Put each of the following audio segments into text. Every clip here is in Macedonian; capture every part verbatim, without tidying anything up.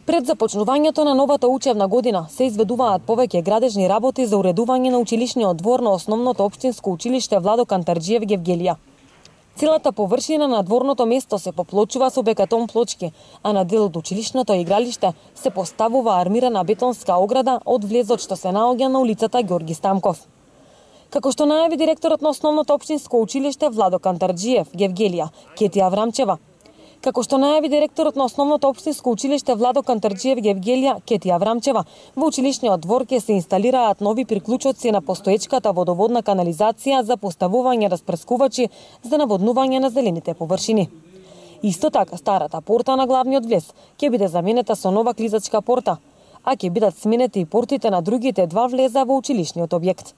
Пред започнувањето на новата учебна година се изведуваат повеќе градежни работи за уредување на училишниот двор на основното општинско училиште Владо Кантарџиев Гевгелија. Целата површина на дворното место се поплочува со бекатон плочки, а на дел од училишното игралиште се поставува армирана бетонска ограда од влезот што се наоѓа на улицата Ѓорги Стамков. Како што најави директорот на основното општинско училиште Владо Кантарџиев Гевгелија, Кетија Аврамчева, Како што најави директорот на основното општинско училиште Владо Кантарџиев Гевгелија, Кетија Аврамчева, во училишниот двор ќе се инсталираат нови приклучоци на постоечката водоводна канализација за поставување распрскувачи за наводнување на зелените површини. Исто така, старата порта на главниот влез ќе биде заменета со нова клизачка порта, а ќе бидат сменети и портите на другите два влеза во училишниот објект.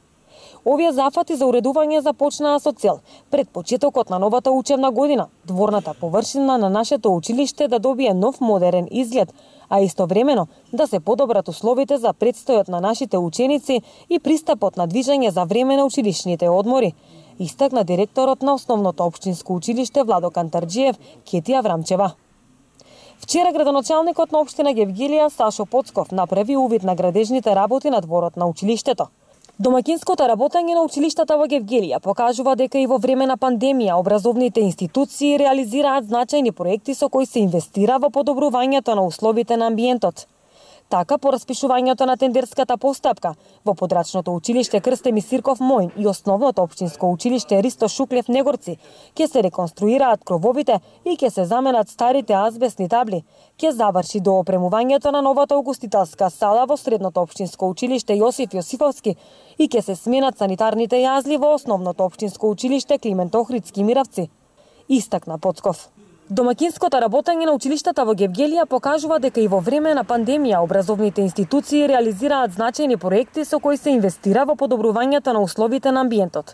Овие зафати за уредување започнаа со цел пред почетокот на новата учебна година дворната површина на нашето училиште да добие нов модерен изглед, а истовремено да се подобрат условите за предстојот на нашите ученици и пристапот на движење за време на училишните одмори, истакна директорот на основното општинско училиште Владо Кантарџиев, Кетија Аврамчева. Вчера градоначалникот на општина Гевгелија Сашо Поцков направи увид на градежните работи на дворот на училиштето. Домакинското работење на училиштата во Гевгелија покажува дека и во време на пандемија образовните институции реализираат значајни проекти со кои се инвестира во подобрувањето на условите на амбиентот. Така, по распишувањето на тендерската постапка во подрачното училиште Крстеми Сирков Мојн и основното општинско училиште Ристо Шуклев Негорци ќе се реконструираат крововите и ќе се заменат старите азбестни табли, ќе заврши доопремувањето на новата угостителска сала во средното општинско училиште Јосиф Јосифовски и ќе се сменат санитарните јазли во основното општинско училиште Климент Охридски Миравци, истакна Поцков. Домакинското работење на училиштата во Гевгелија покажува дека и во време на пандемија образовните институции реализираат значајни проекти со кои се инвестира во подобрувањето на условите на амбиентот.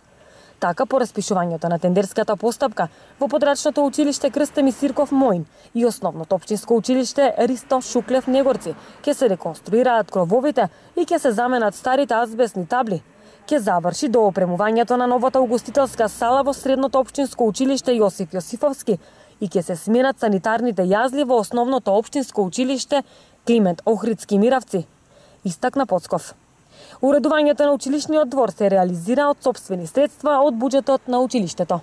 Така, по распишувањето на тендерската постапка во подрачното училиште Крстеми Сирков Мојн и основното општинско училиште Ристо Шуклев Негорци ќе се реконструираат крововите и ќе се заменат старите азбестни табли, ќе заврши доопремувањето на новата угостителска сала во средното општинско училиште Јосиф Јосифовски и ќе се сменат санитарните јазли во основното општинско училиште Климент Охридски Миравци, истакна Поцков. Уредувањето на училишниот двор се реализира од сопствени средства од буџетот на училиштето.